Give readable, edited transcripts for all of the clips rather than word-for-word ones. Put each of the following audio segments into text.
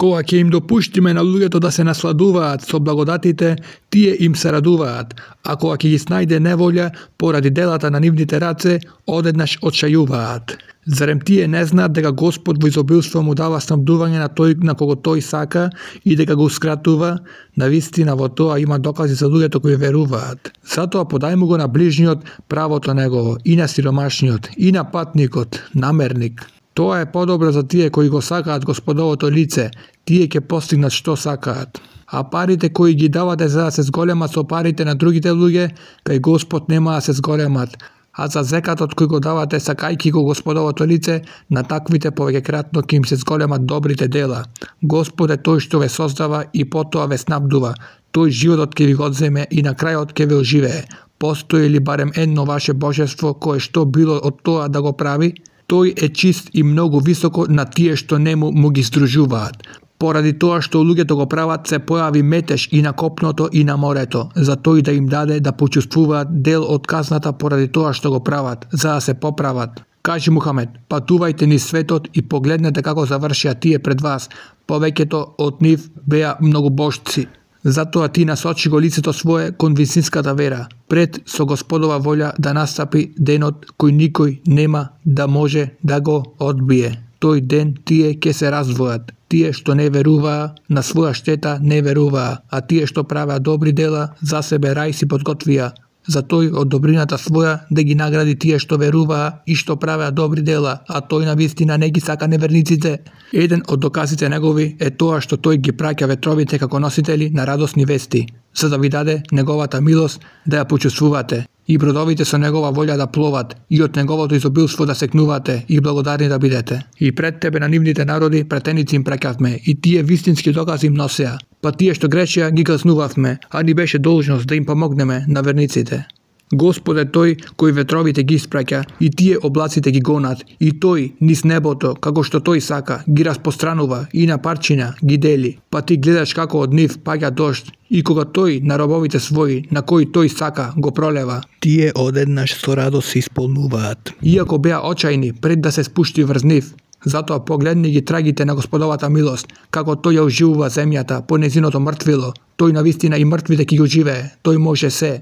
Кога ќе им допуштиме на луѓето да се насладуваат со благодатите, тие им се радуваат, а кога ќе ги снајде неволја поради делата на нивните раце, одеднаш отшајуваат. Зарем тие не знаат дека Господ во изобилство му дава снабдување на тој на кого тој сака и дека го скратува? Навистина во тоа има докази за луѓето кои веруваат. Затоа подај му го на ближниот правото негово, и на сиромашниот, и на патникот, намерник. Тоа е подобро за тие кои го сакаат Господовото лице, тие ќе постигнат што сакаат. А парите кои ги давате за да се зголемат со парите на другите луѓе, кај Господ нема да се зголемат, а за зекатот кој го давате сакајки го Господовото лице, на таквите повеќекратно ќе им се зголемат добрите дела. Господ е тој што ве создава и потоа ве снабдува. Тој животот ќе ви го одземе и на крајот ќе ве оживее. Постои ли барем едно ваше божество кое што било од тоа да го прави? Тој е чист и многу високо на тие што нему му ги здружуваат. Поради тоа што луѓето го прават, се појави метеж и на копното и на морето, за тој да им даде да почувствуваат дел од казната поради тоа што го прават, за да се поправат. Кажи Мухамед, патувајте низ светот и погледнете како завршија тие пред вас, повеќето од нив беа многобожци. Затоа ти насочи го лицето свое кон вистинската вера, пред со Господова волја да настапи денот кој никој нема да може да го одбие. Тој ден тие ќе се раздвојат, тие што не веруваа, на своја штета не веруваа, а тие што правеа добри дела, за себе рај си подготвија. За тој од добрината своја да ги награди тие што веруваа и што правеа добри дела, а тој на вистина не ги сака неверниците. Еден од доказите негови е тоа што тој ги праќа ветровите како носители на радосни вести, за да ви даде неговата милост да ја почувствувате, и бродовите со негова волја да пловат, и од неговото изобилство да секнувате и благодарни да бидете. И пред тебе на нивните народи претеници им праќавме, и тие вистински докази им носеа. Па тие што грешија ги казнувавме, а ни беше должност да им помогнеме на верниците. Господ е тој кој ветровите ги испраќа и тие облаците ги гонат, и тој низ небото, како што тој сака, ги распостранува и на парчина ги дели. Па ти гледаш како од нив паѓа дожд, и кога тој на робовите своји, на кои тој сака, го пролева, тие одеднаш со радост се исполнуваат. Иако беа очајни пред да се спушти врз нив, затоа погледни ги трагите на Господовата милост, како тој ја оживува земјата по незиното мртвило, тој навистина и мртвите ќе ги оживее, тој може се.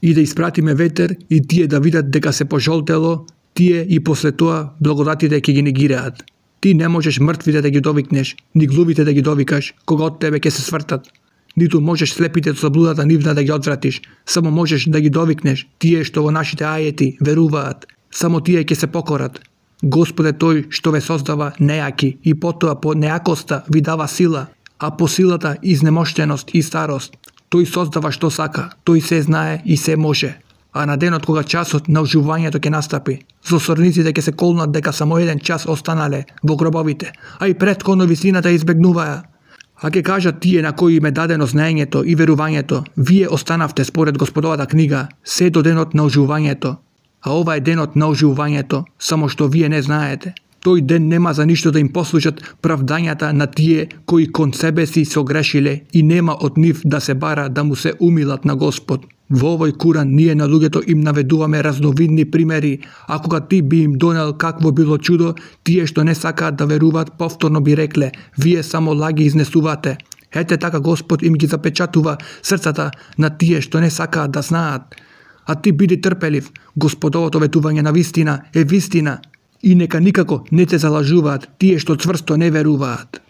И да испратиме ветер и тие да видат дека се пожолтело, тие и после тоа благодатите ќе ги негираат. Ти не можеш мртвите да ги довикнеш, ни глувите да ги довикаш, кога од тебе ќе се свртат. Ниту можеш слепите од заблудата нивна да ги одвратиш, само можеш да ги довикнеш, тие што во нашите ајети веруваат, само тие ќе се покорат. Господ е тој што ве создава нејаки и потоа по нејакоста ви дава сила, а по силата изнемоштеност и старост. Тој создава што сака, тој се знае и се може. А на денот кога часот на оживувањето ќе настапи, злосторниците ќе се колнат дека само еден час останале во гробовите, а и претходно вистината избегнуваа. А ќе кажат тие на кои им е дадено знаењето и верувањето, вие останавте според Господовата книга, се до денот на оживувањето. А ова е денот на оживувањето, само што вие не знаете. Тој ден нема за ништо да им послужат правдањата на тие кои кон себе си се огрешиле и нема од нив да се бара да му се умилат на Господ. Во овој Куран ние на луѓето им наведуваме разновидни примери, а кога ти би им донел какво било чудо, тие што не сакаат да веруваат повторно би рекле, вие само лаги изнесувате. Ете така Господ им ги запечатува срцата на тие што не сакаат да знаат. А ти биди трпелив, Господовото ветување на вистина е вистина, и нека никако не те залажуваат тие што цврсто не веруваат.